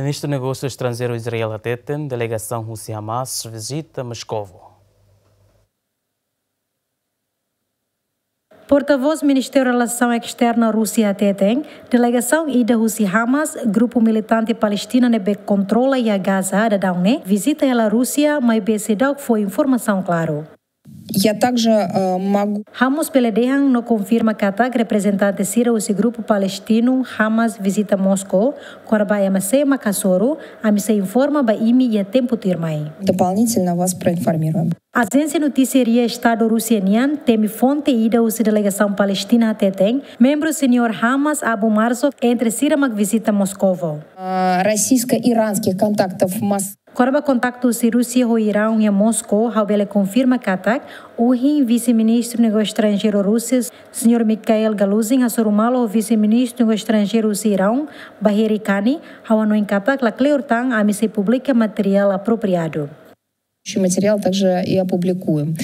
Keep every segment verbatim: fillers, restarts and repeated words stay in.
Ministru Negósiu Estranjeiru Israel hateten delegasaun husi Hamas vizita Moscou. Portavós Ministériu Relasaun Esterna Rúsia hateten delegasaun ida husi Hamas, grupu militante Palestina ne'ebé kontrola iha Gaza, daudaun ne'e vizita hela Rúsia, maibé seidauk fó informasaun klaru. Я также, э, могу... Ha'u mós bele dehan no konfirma katak reprezentante sira husi grupu palestinu Hamas vizita Moscou, kona-ba ema sé mak hasoru, ami sei informa ba imi iha tempu tuirmai. Дополнительно вас проинформируем. Ajénsia notísia RIA Estadu Rúsia nian temi fonte ida husi delegasaun palestina hateten membru seniór Hamas Abu Marzuk entre sira mak vizita Moscou. Э, российско-иранских контактов масс... Kona-ba kontaktu husi Rúsia ho Iraun iha Moscou, ha'u bele konfirma katak ohin Vise-Ministru Negósiu Estranjeiru Rúsia, señór Mikhail Galuzin, hasoru malu ho Vise-Ministru Negósiu Estranjeiru husi Iraun, Bagheri Kani, ha'u hanoin katak la kleur tan, ami sei publika materiál apropriadu. Материал также и опубликуем.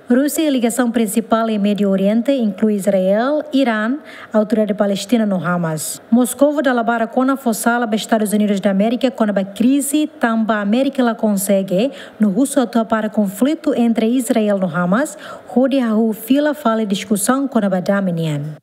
Rúsia iha ligasaun prinsipál iha Médiu Oriente, inklui Israel, Irán, Autoridade Palestina no Hamas. Moscou dala barak ona fó sala ba Estadus Unidus da Amérika kona-ba krize, tanba Amérika la konsege no husu atu hapara konflitu entre Israel no Hamas, hodi hahú fila fali diskusaun kona-ba dame nian.